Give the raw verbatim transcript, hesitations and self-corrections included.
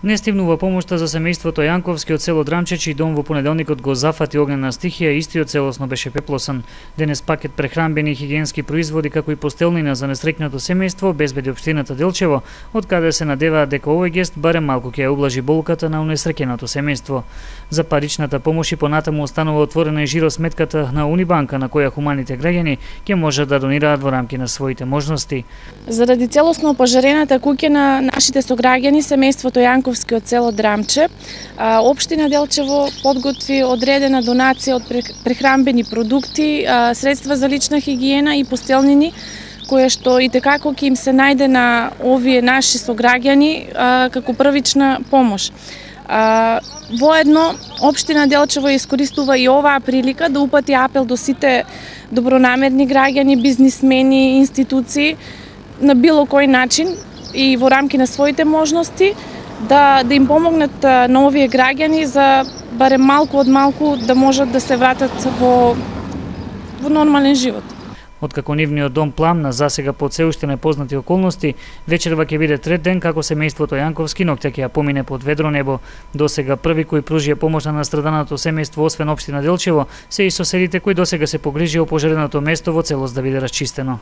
Не стивнува помошта за семејството Јанковски од село Драмче, чиј дом во понеделникот го зафати огнена стихија, истиот целосно беше пеплосан. Денес пакет прехранбени и хигиенски производи, како и постелнина за несреќното семејство обезбеди општината Делчево, од каде се надеваат дека овој гест барем малку ќе ја ублажи болката на унесреќеното семејство. За паричната помош и понатаму останува отворена и жиросметката на Унибанка, на која хуманите граѓани ќе можат да донираат во рамки на своите можности. Заради целосно опожарената куќа на нашите сограѓани, семејството Јанковски од село Драмче, општина Делчево подготви одредена донација од прехранбени продукти, средства за лична хигиена и постелнини, која што и текако ќе им се најде на овие наши сограѓани како првична помош. Воедно, општина Делчево искористува и оваа прилика да упати апел до сите добронамерни граѓани, бизнисмени, институции на било кој начин и во рамки на своите можности да да им помогнат на овие граѓани за барем малку од малку да можат да се вратат во во нормален живот. Откако нивниот дом пламна засега под се уште непознати околности, вечерва ќе биде трет ден како семејството Јанковски ноќта ќе ја помине под ведро небо. Досега први кои пружија помош на настраданото семејство освен општина Делчево се и соседите кои досега се погрижија опожареното место во целост да биде расчистено.